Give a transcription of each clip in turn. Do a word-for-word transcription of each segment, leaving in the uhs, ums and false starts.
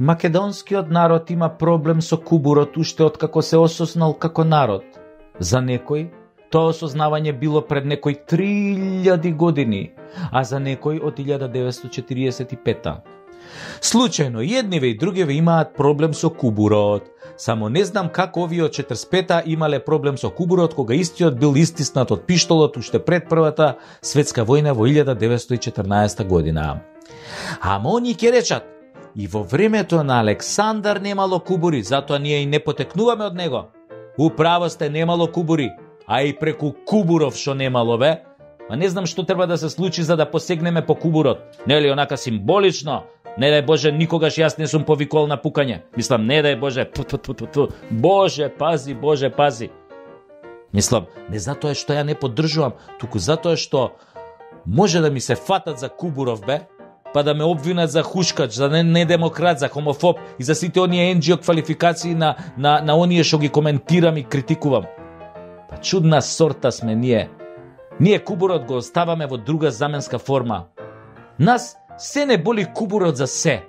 Македонскиот народ има проблем со кубурот уште откако се осознал како народ. За некој, тоа осознавање било пред некои три илјади години, а за некој од илјада деветстотини четириесет и пета. Случајно, едниве и другиве имаат проблем со кубурот. Само не знам како овие од четиридесет и пета имале проблем со кубурот, кога истиот бил истиснат од пиштолот уште пред Првата светска војна во илјада деветстотини и четрнаесета година. Ама они ќе речат, и во времето на Александар немало кубури, затоа ние и не потекнуваме од него. Управо сте, немало кубури, а и преку кубуров шо немало бе. Ма не знам што треба да се случи за да посегнеме по кубурот. Нели онака символично? Не дај Боже, никогаш јас не сум повикол на пукање. Мислам, не дај Боже, ту, ту, ту, ту, ту. Боже, пази, Боже, пази. Мислам, не затоа што ја не поддржувам, туку затоа што може да ми се фатат за кубуров бе, па да ме обвинат за хушкач, за недемократ, за хомофоб и за сите оние ен джи о квалификации на, на, на оние што ги коментирам и критикувам. Па чудна сорта сме ние. Ние кубурот го оставаме во друга заменска форма. Нас се не боли кубурот за се.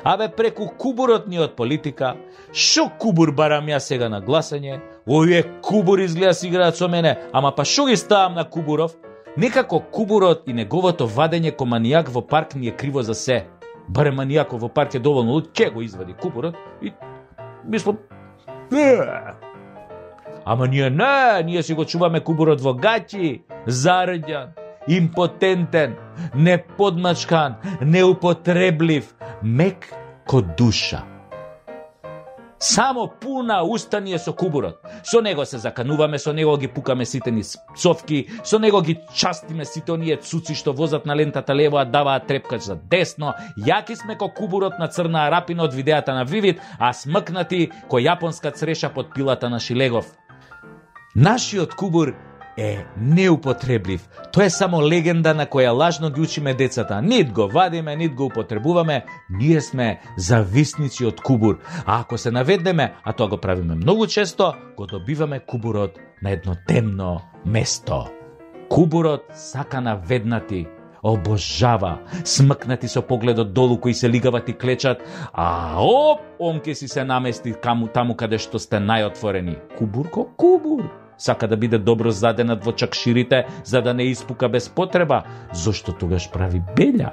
Абе преку кубурот ни од политика, шо кубур барам ја сега на гласање, овие кубур изгледа си играат со мене, ама па шо ги ставам на кубуров? Некако кубурот и неговото вадење ко манијак во парк ни е криво за се. Баре манијакот во парк е доволно луд, ќе го извади кубурот и мислам, ама ние не, ние си го чуваме кубурот во гаќи, зарđан, импотентен, неподмачкан, неупотреблив, мек ко душа. Само пуна уста ни е со кубурот. Со него се закануваме, со него ги пукаме сите ни цовки, со него ги частиме сите оние цуци што возат на лентата лево, а даваат трепкач за десно. Јаки сме ко кубурот на Црна Арапина од видеата на Вивид, а смкнати ко јапонска цреша под пилата на Шилегов. Нашиот кубур е неупотреблив. Тоа е само легенда на која лажно ги учиме децата. Нит го вадиме, нит го употребуваме. Ние сме зависници од кубур. А ако се наведнеме, а тоа го правиме многу често, го добиваме кубурот на едно темно место. Кубурот сака наведнати, обожава, смкнати со погледот долу кои се лигават и клечат, а оп, он ке си се намести каму, таму каде што сте најотворени. Кубур ко кубур. Сака да биде добро заденат во чакширите, за да не испука без потреба. Зошто тогаш прави белја?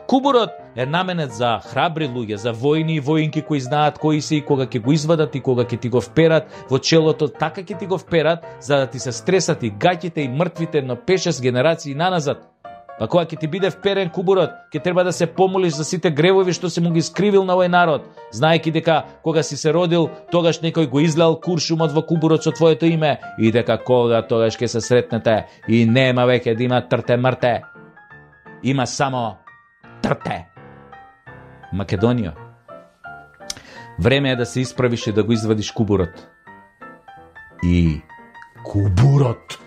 Кубурот е наменет за храбри луѓе, за војни и воинки кои знаат кои се и кога ќе го извадат и кога ќе ти го вперат во челото, така ќе ти го вперат, за да ти се стресат и гаќите и мртвите, но пет-шест генерации наназад. Па кога ќе ти биде вперен кубурот, ќе треба да се помолиш за сите гревови што си му ги скривил на овој народ, знаејќи дека кога си се родил, тогаш некој го излеал куршумот во кубурот со твоето име и дека кога тогаш ќе се сретнете и нема веќе да има трте мрте. Има само трте. Македонија. Време е да се исправиш и да го извадиш кубурот. И кубурот.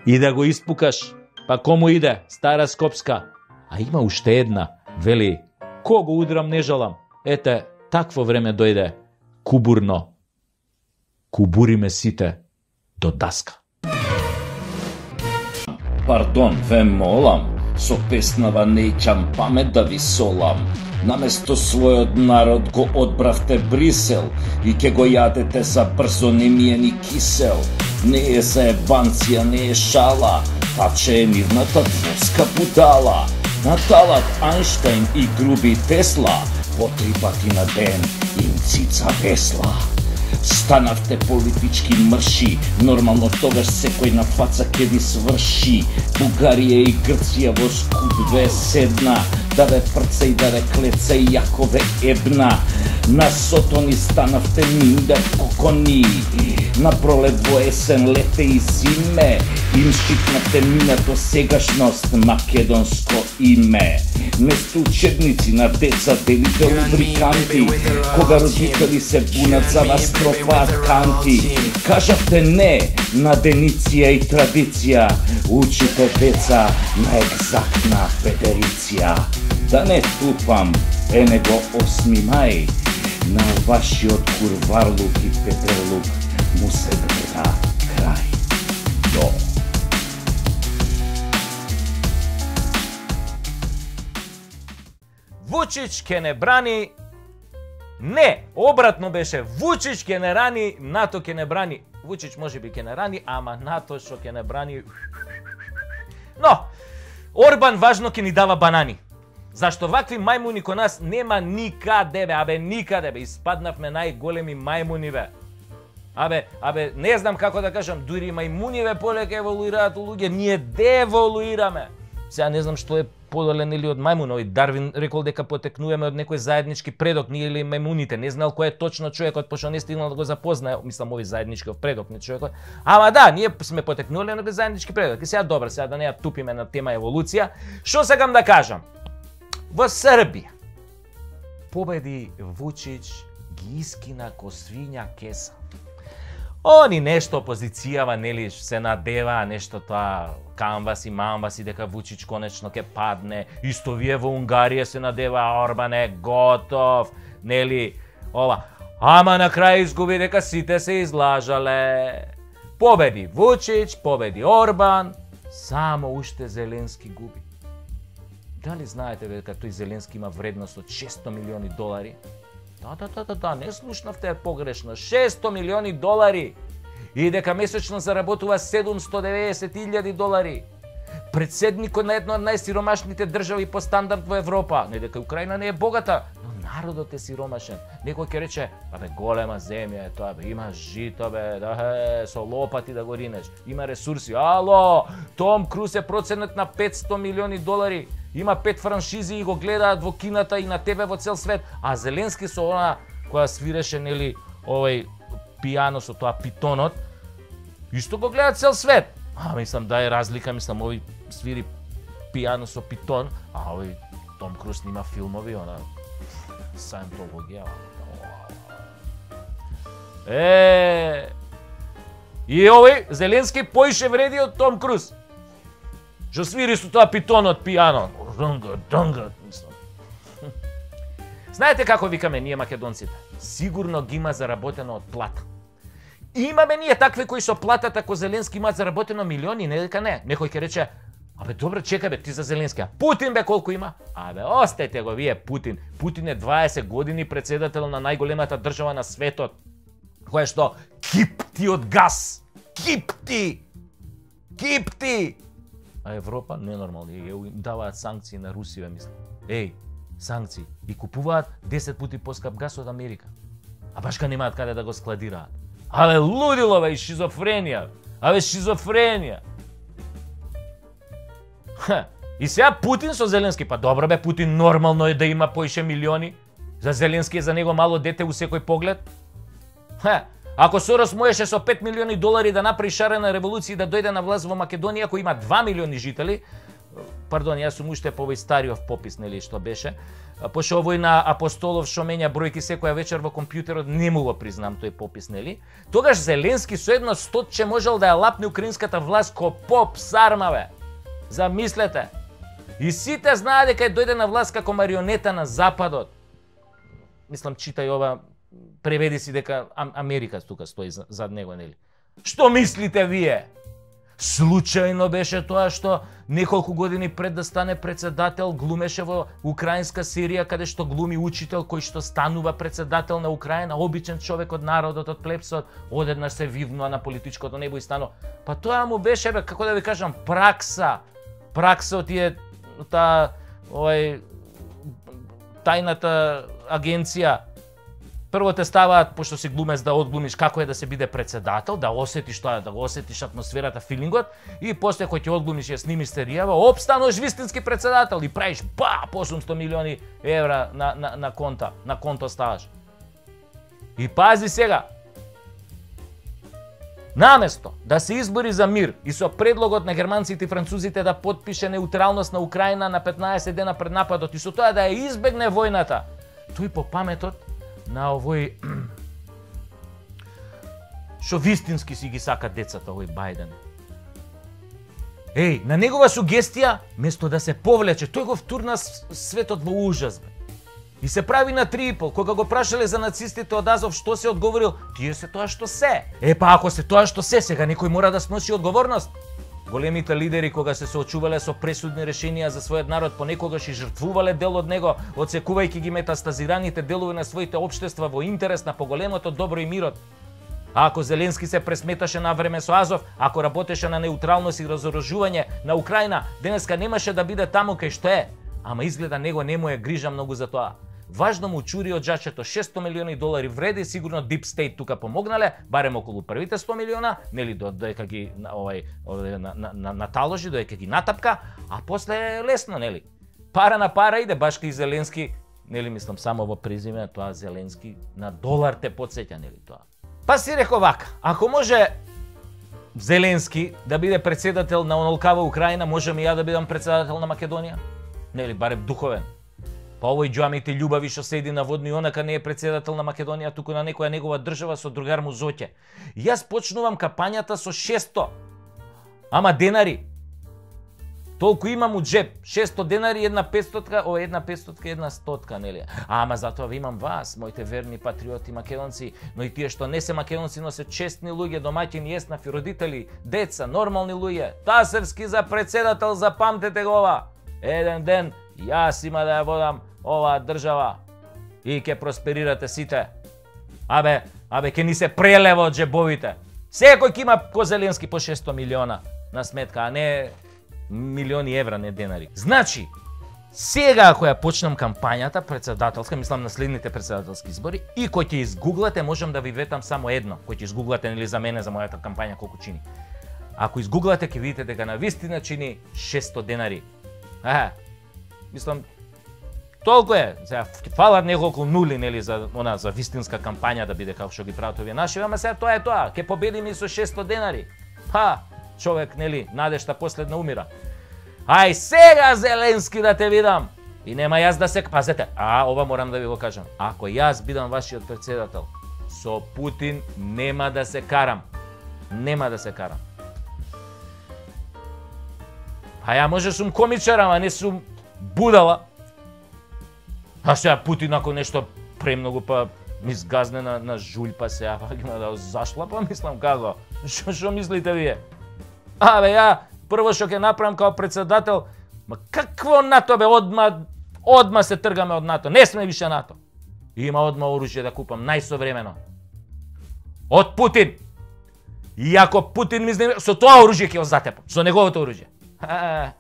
И да го испукаш, па кому иде, Стара Скопска. А има уште една, вели, кого удрам не жалам. Ете, такво време дојде, кубурно. Кубуриме сите до даска. Пардон, ве молам, со песнава неќам памет да ви солам. Наместо својот народ го одбравте Брисел и ке го јадете за брзо немиени кисел. Не е заебанција, не е шала, таче е мирната дворска будала. Наталат Ајнштајн и груби Тесла, по три пати на ден им цица весла. Станавте политички мрши, нормално тогаш секој на фаца ке ви сврши. Бугарија и Грција во скуп ве седна, да ве прца и да ве клеца и јако ве ебна. На сотони станавте миндер кокони, на пролет во есен, лете и зиме, им шипнате минато сегашност, македонско име. Место учебници на деца делите лубриканти, кога родители се бунат за вас пропаганти. Кажавте не на дениција и традиција, учите деца на екзактна федериција. Да не тупам, е него осми мај, на вашиот курварлук и петрлук му се гледа крај. До. Во Вучич ќе не брани. Не, обратно беше. Вучич ќе не рани, НАТО ќе не брани. Вучич може би ќе не рани, ама НАТО што ќе не брани. Но, Орбан важно ќе ни дава банани. Зашто вакви мајмуни кон нас нема никаде, бе, абе никаде, бе, испаднавме најголеми мајмуни, бе. Абе, абе, не знам како да кажам, дури мајмуниве полека еволуираат луѓе, ние деволуираме. Сега не знам што е подолен или од мајмунови. Дарвин рекол дека потекнуваме од некој заеднички предок, ние или мајмуните. Не знал кој е точно човекот, пошто не стигнал да го запознае, мислам, овој заедничкиот предок, не човекот. Ама да, ние сме потекнули од заеднички предок. И сега добро, сега да не ја тупиме на тема еволуција. Што сакам да кажам? Во Србија победи Вучич, ги искина ко свиња кеса. Они нешто опозицијава, нели, се надева, нешто тоа камваси, мамваси, дека Вучич конечно ќе падне. Исто вие во Унгарија се надева, Орбан е готов, нели, ова. Ама на крај изгуби дека сите се излажале. Победи Вучич, победи Орбан, само уште Зеленски губи. Дали знаете дека тој Зеленски има вредност од шесто милиони долари? Да, да, да, да, да, не слушнавте погрешно. шесто милиони долари. И дека месечно заработува седумсто деветдесет илјади долари. Председникот на една од најсиромашните држави по стандард во Европа. Не дека Украина не е богата, но народот е сиромашен. Некој ќе рече, абе голема земја е тоа, бе, има жито, бе, да, е, со лопати да го ринеш. Има ресурси. Ало, Том Круз е проценет на петсто милиони долари. Има пет франшизи и го гледаат во кината и на тебе во цел свет. А Зеленски со она која свиреше, нели, овој пијано со тоа питонот, исто го гледаат цел свет. А, мислам, да е разлика, мислам, овој свири пијано со питон, а овој Том Круз снима филмови, она Сајентологија. Е, и овој Зеленски поише вреди од Том Круз. Што свири со тоа питонот пијано. Донга, донга, мислам. Знаете како викаме ние македонците? Сигурно ги има заработено од плата. Имаме ние такви кои со платата ко Зеленски имаат заработено милиони, не дека не. Некој ќе рече, абе добре, чекај бе, ти за Зеленски. А Путин бе колку има? Абе, остајте го вие Путин. Путин е дваесет години председател на најголемата држава на светот. Која што кипти од газ. Кипти! Кипти! А Европа ненормално, им даваат санкции на Русија, мислам. Еј, санкции. И купуваат десет пати поскап газ од Америка. А баш ка немаат каде да го складираат. Абе лудило, бе, и шизофренија. Абе шизофренија. Ха, и сега Путин со Зеленски, па добро бе, Путин нормално е да има поише милиони. За Зеленски е за него мало дете у секој поглед. Ха, ако Сорос можеше со пет милиони долари да направи шарена револуција и да дојде на власт во Македонија, кој има два милиони жители, пардон, јас сум уште по овој стариот попис, нели, што беше, пошто овој на Апостолов што менја бројки секоја вечер во компјутерот, не му го признам тој попис, нели? Тогаш Зеленски со едно стотче можел да ја лапне украинската власт ко поп сармаве. Замислете. И сите знаат дека дојде на власт како марионета на Западот. Мислам, читај ова, преведи си дека Америка тука стои зад него, нели? Што мислите вие? Случајно беше тоа што неколку години пред да стане председател глумеше во украинска серија каде што глуми учител кој што станува председател на Украина, обичен човек од народот, од плебсот, одеднаш се вивнува на политичкото небо и стано. Па тоа му беше, бе, како да ви кажам, пракса. Пракса од тие таа овај тајната агенција. Прво те ставаат, пошто си глумец, да одглумиш како е да се биде председател, да осетиш тоа, да го осетиш атмосферата, филингот, и после кој ќе одглумиш ја снимиш серијава, оп, стануваш вистински председател и правиш ба, по осумсто милиони евра на, на, на конта, на конто ставаш. И пази сега, наместо да се избори за мир и со предлогот на германците и французите да потпише неутралност на Украина на петнаесет дена пред нападот и со тоа да ја избегне војната, тој по паметот на овој што вистински си ги сака децата, овој Бајден. Еј, на негова сугестија, место да се повлече, тој го втурна светот во ужас, бе. И се прави на три и пол. Кога го прашале за нацистите од Азов, што се одговорил? Тие се тоа што се. Е, па ако се тоа што се, сега некој мора да сноси одговорност. Големите лидери кога се соочувале со пресудни решенија за својот народ, понекогаш и жртвувале дел од него, одсекувајќи ги метастазираните делови на своите општества во интерес на поголемото добро и мирот. А ако Зеленски се пресметаше на време со Азов, ако работеше на неутралност и разоружување на Украина, денеска немаше да биде таму кај што е. Ама изгледа него не му е грижа многу за тоа. Важно му чури од джачето шестстотини милиони долари вреди, сигурно Deep State тука помогнале, барем околу првите сто милиона, нели додека ги овај на, на, на, наталожи, додека ги натапка, а после е лесно, нели. Пара на пара иде, баш кај Зеленски, нели мислам само во презиме, тоа Зеленски на долар те потсеќа, нели тоа. Па си реков вака, ако може Зеленски да биде председател на онолкава Украина, можем и ја да бидам председател на Македонија? Нели, барем духовен. Па овој џамите љубави што седи на водно и онака не е председател на Македонија, туку на некоја негова држава со другар му Зоќе. Јас почнувам кампањата со шестстотини, ама денари. Толку имам у джеб, шестстотини денари, една петстотка, о, една петстотка, една стотка, нели? Ама затоа ви имам вас, моите верни патриоти македонци, но и тие што не се македонци, но се честни луѓе, домаќини, еснафи, родители, деца, нормални луѓе. Тасерски за председател, запамтете го ова. Еден ден јас има да ја водам оваа држава и ќе просперирате сите. Абе, абе, ќе ни се прелева од джебовите. Секој ќе има ко Зеленски по шестстотини милиона на сметка, а не милиони евра, не денари. Значи, сега ако ја почнам кампањата председателска, мислам на следните председателски избори, и кој ќе изгуглате, можам да ви ветам само едно, кој ќе изгуглате нели за мене, за мојата кампања колку чини. Ако изгуглате, ќе видите дека на вистина чини шестстотини денари. Е, мислам, толку е. Сега фалат неколку нули, нели, за она за вистинска кампања да биде како што ги прават овие наши, ама сега тоа е тоа. Ќе победиме и со шестстотини денари. Па, човек, нели, надежта последна умира. Ај сега Зеленски да те видам. И нема јас да се пазете. А, ова морам да ви го кажам. Ако јас бидам вашиот председател, со Путин нема да се карам. Нема да се карам. А ја може сум комичар, ама не сум будала. А сега Путин ако нешто премногу па ми сгазне на, на жулј, па сега па има да зашла, па мислам како. Шо, шо мислите вие? Абе ја прво што ќе направам као председател, ма какво НАТО бе, одма, одма се тргаме од НАТО, не сме више НАТО. Има одма оружје да купам, најсовремено. Од Путин. И ако Путин ми знаме, со тоа оружје ќе го затепам, со неговото оружје. А,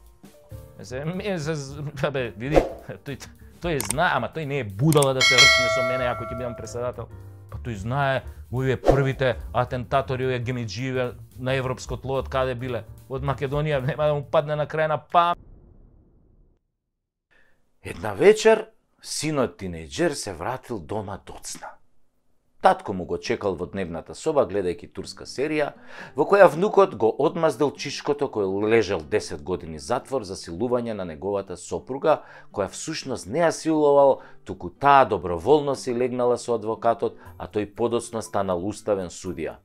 се, се, бе, види, тој, тој знае, ама тој не е будала да се рчне со мене ако ќе бидам председател. Па тој знае, овие првите атентатори, овие гемиџији на европско тло, од каде биле? Од Македонија, нема да му падне на крај на пам. Една вечер, синот тинејџер се вратил дома доцна. Татко му го чекал во дневната соба, гледајќи турска серија, во која внукот го одмаздил чишкото кој лежал десет години затвор за силување на неговата сопруга, која всушност не ја силувал, туку таа доброволно си легнала со адвокатот, а тој подоцна станал уставен судија.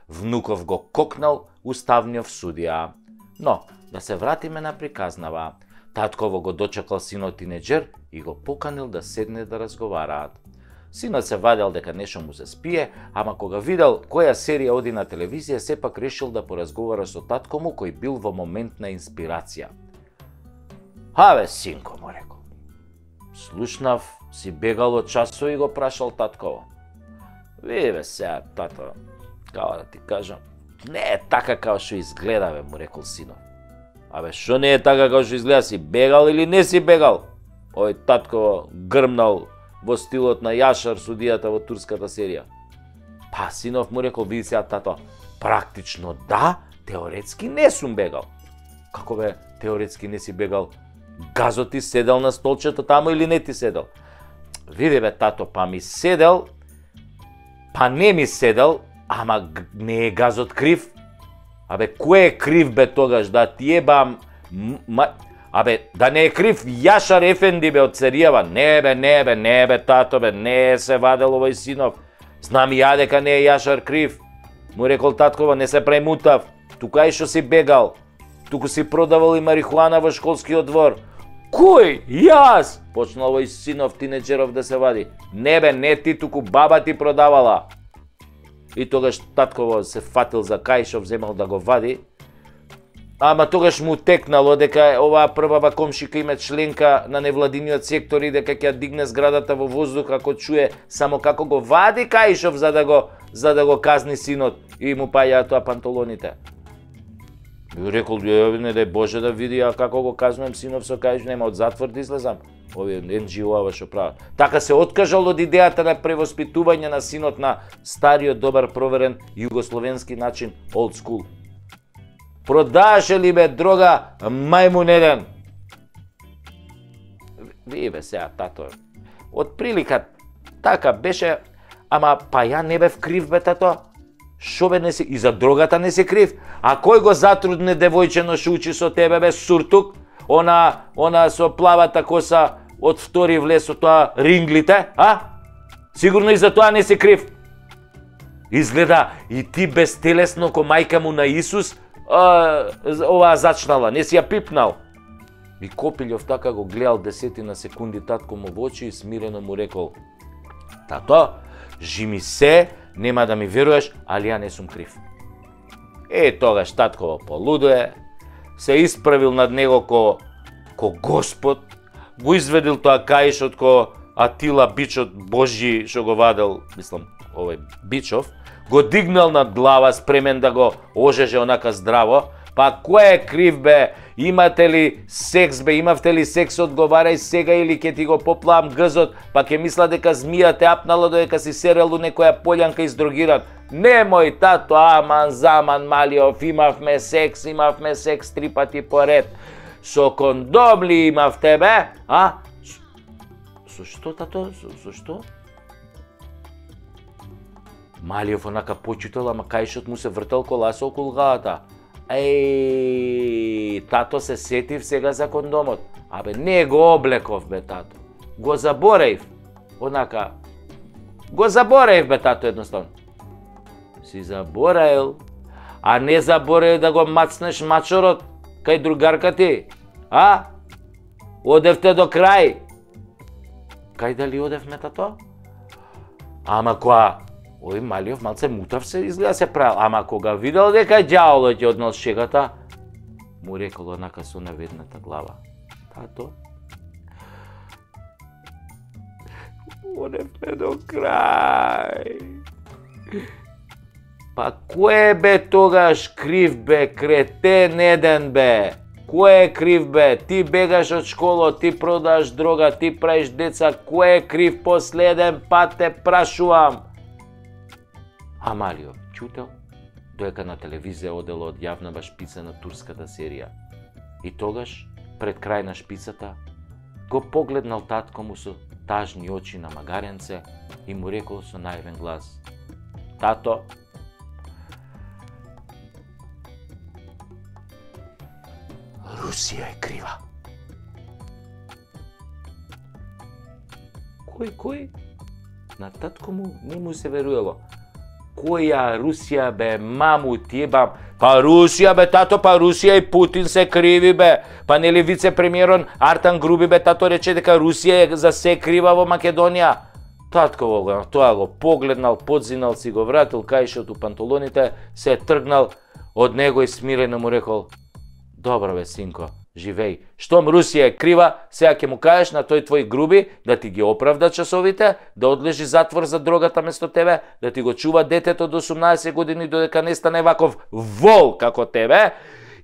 Внуков го кокнал уставниот судија. Но, да се вратиме на приказнава. Татково го дочекал синот тинејџер и го поканил да седне да разговараат. Синот се вадел дека нешто му се спие, ама кога видел која серија оди на телевизија, сепак решил да поразговара со татко му кој бил во момент на инспирација. Абе, синко, му рекол. Слушнав, си бегал од часо и го прашал татково. Види бе сега, тато, као да ти кажам, не е така као што изгледа, бе, му рекол синот. Абе, шо не е така као што изгледа, си бегал или не си бегал? Ој татково грмнал во стилот на Јашар, судијата во турската серија. Па, синов му рекол, види сега, тато, практично да, теоретски не сум бегал. Како бе, теоретски не си бегал? Газот ти седел на столчето таму или не ти седел? Види бе, тато, па ми седел, па не ми седел, ама не е газот крив? Абе, кој е крив бе тогаш, да ти ебам... Абе, да не е крив Јашар Ефенди бе од Царијева? Не бе, не бе, не бе, тато бе, не се вадел овој синов. Знам ја дека не е Јашар крив. Му рекол таткова, не се премутав. Тука и што си бегал. Туку си продавал и марихуана во школскиот двор. Кој? Јас? Почнал овој синов тинеџеров да се вади. Не бе, не ти, туку баба ти продавала. И тогаш татково се фатил за кај што вземал да го вади. ама тогаш му текнало дека оваа првава комшика има членка на невладиниот сектор и дека ќе дигне зградата во воздух ако чуе само како го вади Каишов за да го за да го казни синот и му паѓаат тоа панталоните. И рекол, не дај Боже да види а како го казнувам синов со Каиш, нема од затвор да излезам. Овие ен џи о-ава што прават. Така се откажал од идејата на превоспитување на синот на стариот добар проверен југословенски начин, old school. Продаше ли бе дрога мајмун еден? Ви бе сега, тато. Од прилика така беше, ама па ја не бев крив бе тато. Шо бе не си, и за дрогата не си крив. А кој го затрудне девојчено шо учи со тебе бе суртук? Она, она со плавата коса од втори влез со тоа ринглите, а? Сигурно и за тоа не си крив. Изгледа и ти безтелесно ко мајка му на Исус, а, оваа зачнала, не си ја пипнал. И Копилјов така го гледал десетина секунди татко му во очи и смирено му рекол: тато, жими се, нема да ми веруваш, али ја не сум крив. Е, тогаш татко полудуе, се исправил над него ко, ко Господ, го изведил тоа Каишот ко Атила бичот Божји што го вадел, мислам, овој Бичов, го дигнал над глава спремен да го ожеже онака здраво. Па кој е крив бе? Имате ли секс бе? Имавте ли секс? Одговарај сега или ќе ти го поплавам гзот, па ќе мисла дека змија те апнала додека си серел у некоја полјанка издрогиран. Немој тато, аман заман Малиов, имавме секс, имавме секс три пати поред. Со кондом ли имавте бе? А? Со што тато? Со, со што? Малиов онака почитал, ама Каишот му се вртал коласа околу главата. Еј, тато се сетив сега за кондомот. Абе, не го облеков бе тато. Го забореив. Онака. Го забореив бе тато едноставно. Си забораил. А не забораил да го мацнеш мачорот кај другарка ти. А? Одевте до крај. Кај дали одевме тато? Ама која? Ој Малиов малце мутав се изгледа се правил, ама кога видел дека ѓаволот ќе однел шегата, му рекол онака со наведната глава: тато, одевме до крај. Па кој бе тогаш крив бе, кретен еден бе? Кој е крив бе? Ти бегаш од школа, ти продаш дрога, ти правиш деца, кој е крив последен пат те прашувам? А Малиов чутел, доека на телевизија одела одјавнава шпица на турската серија. И тогаш, пред крај на шпицата, го погледнал татко му со тажни очи на магаренце и му рекол со наивен глас: тато, Русија е крива. Кој, кој? На татко му не му се веруело. Која Русија бе, маму ти ебам? Па Русија бе, тато, па Русија и Путин се криви бе. Па нели вице-премиерон Артан Груби бе, тато рече дека Русија е за се крива во Македонија. Татко го, тоа го погледнал, подзинал, си го вратил Каишот у панталоните, се тргнал од него и смирено му рекол: добро бе, синко, живеј. Штом Русија е крива, сега ќе му кажеш на тој твој Груби да ти ги оправда часовите, да одлежи затвор за дрогата место тебе, да ти го чува детето до осумнаесет години додека не стане ваков вол како тебе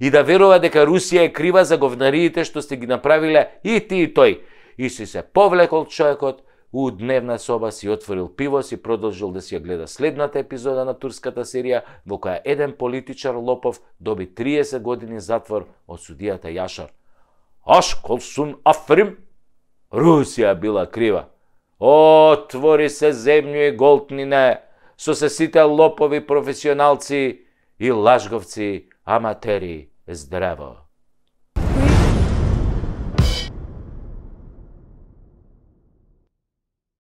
и да верува дека Русија е крива за говнариите што сте ги направиле и ти и тој. И си се повлекол човекот у дневна соба, си отворил пиво, си продолжил да си ја гледа следната епизода на турската серија во која еден политичар лопов доби триесет години затвор од судијата Јашар. Ашколсун Африм, Русија била крива. Отвори се земју и голтнине, со се сите лопови професионалци и лажговци, аматери, здраво.